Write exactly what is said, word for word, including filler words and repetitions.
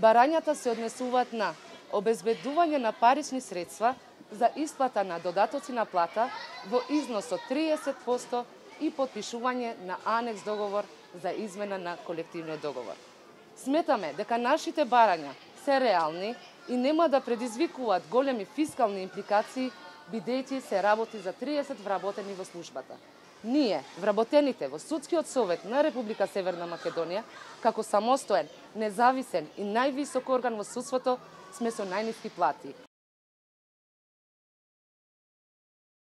Барањата се однесуваат на обезбедување на парични средства за исплата на додатоци на плата во износ од триесет проценти и потпишување на анекс договор за измена на колективниот договор. Сметаме дека нашите барања се реални и нема да предизвикуваат големи фискални импликации, бидејќи се работи за триесет вработени во службата. Ние, вработените во Судскиот совет на Република Северна Македонија, како самостоен, независен и највисок орган во судството, сме со најниски плати.